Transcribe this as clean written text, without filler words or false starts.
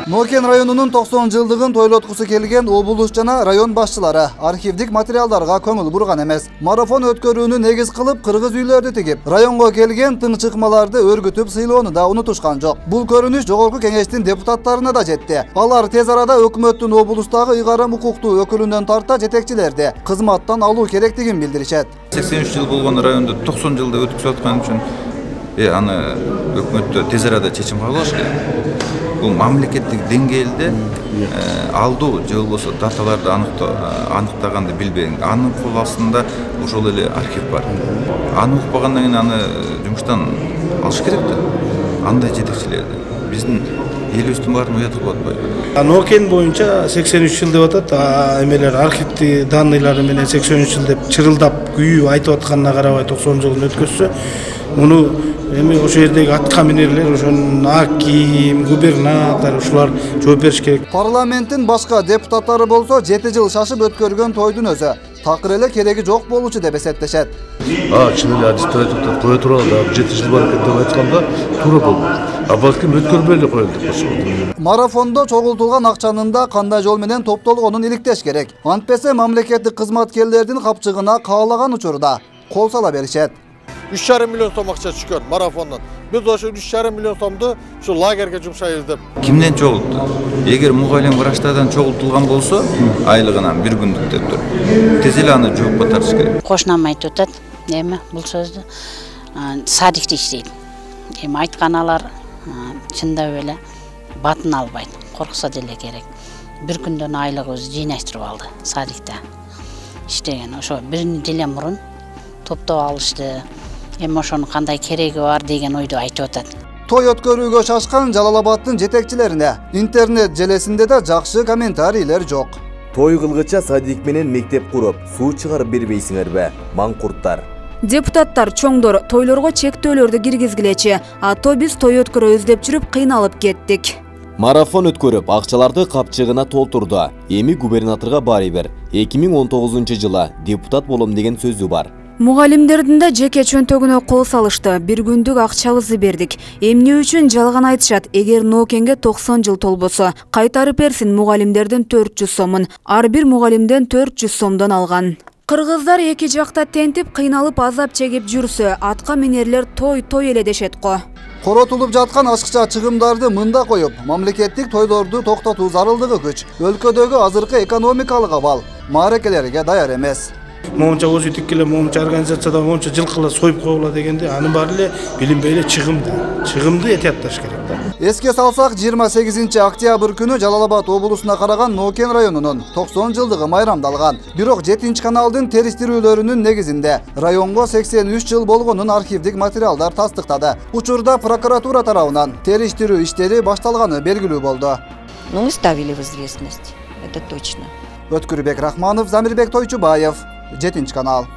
Нокен районунун 90 жылдыгын тойлоткусу келген облус жана район башчылары архивдик материалдарга көңүл бурган эмес. Марафон өткөрүүнү негиз кылып кыргыз үйлөрдү тигип, районго келген тың чыкмаларды өргүтүп сыйлоону да унутушкан жок. Бул көрүнүш Жогорку Кеңештин депутаттарына да жетти. Алар тез арада өкмөттүн облустагы ыйгарым укуктуу өкүлүнөн тарта жетекчилерди кызматтан алуу керектигин билдиришет. 83 жыл болгон райондо 90 жылда өткүзүп аткан үчүн аны өкмөттө тез арада чечим кабылыш керек. Бул мамлекеттик деңгээлде алдуу же болбосо даталарды аныктаганды билбейм. Анын кол астында ошол эле архив бар. Аны укпагандан кийин аны жумуштан алыш керек да. Андай жетекчилерди биздин элибиздин баарын уят кылып атпайбы? Нокен боюнча 83 жыл деп атат. Эмелер архивти данныйлары менен 83 жыл деп чырылдап күйүп айтып атканына карабай 90 жылын өткөзсө, муну эми ошол жердеги атка минерлер, ошонун аким, губернатор ушулар жооп бериш керек. Парламенттин башка депутаттары болсо 7 жыл шашып өткөргөн тойдун өзү такыр эле кереги жок болчу деп эсептешет. Чын эле адистративдер кое туралы да 7 жыл бар экен деп айтканда туура болду. Балким өткөрбөй эле коелу деп болсо. Марафондо чогултулган акчанын да кандай жол менен топтолгонун иликтеш керек. Антпесе мамлекеттик кызматкерлердин капчыгына каалаган учурда кол сала беришет. 3,5 миллион сом акча түшкөн марафондон. Биз ошо 3,5 миллион сомду ушу лагерге жумшайбыз деп. Кимден чогулту? Эгер мугалим врачтардан чогултулган болсо, айлыгынан бир күндүк деп тур. Тез эле аны жоопко тартыш керек. Кошунам айтып атат, эми бул сөздү садикте иштейт. Эми айтканалар чындап эле батын албайт. Корксо деле керек. Бир күндөн айлыгыбызды жыйнаштырып алды садикте. Иштеген ошо бир эле мурун топтоп алышты. Эми ошонун кандай кереги бар деген ойду айтып атат. Той өткөрүүгө шашкан Жалал Абадтын жетекчилерине интернет желесинде да жакшы комментарийлер жок. Той кылгыча садик менен мектеп куруп, суу чыгарып бербейсиңерби, маңкурттар. Депутаттар чоңдор тойлорго чектөөлөрдү киргизгилечи, ато биз той өткөрөбүз деп жүрүп кыйналып кеттик. Марафон өткөрүп, акчаларды капчыгына толтурду. Эми губернаторго баары бир. 2019-жылы депутат болом деген сөзү бар. Мугалимдердин да жеке чөнтөгүнө кол салышты. Бир күндүк акчабызды бердик. Эмне үчүн жалган айтышат? Эгер Нокенге 90 жыл толбосо, кайтарып берсин мугалимдердин 400 сомун. Ар бир мугалимден 400 сомдон алган. Кыргыздар эки жакта тентип, кыйналып азап чегип жүрсө, атка минерлер той эле дешет го. Коротулуп жаткан ашыкча чыгымдарды мында коюп, мамлекеттик тойлорду токтотуу зарылдыгы күч. Өлкөдөгү азыркы экономикалык абал мааракелерге даяр эмес. Момча өзүтүк эле, момча организацияда момча жылкыла союп койгула дегенде, анын баары эле билинбей эле чыгымды этиятташ керек да. Эске салсак, 28 октябрь күнү Жалал Абад облусуна караган Нокен районунун 90 жылдыгы майрамдалган. Бирок 7 каналдын териштирүүлөрүнүн негизинде районго 83 жыл болгонун архивдик материалдар тастыктады. Учурда прокуратура тарабынан териштирүү иштери башталганы белгилүү болду. Мы ставили в известность, это точно. Өткүрбек Рахманов, Замирбек Тойчубаев, 7 канал.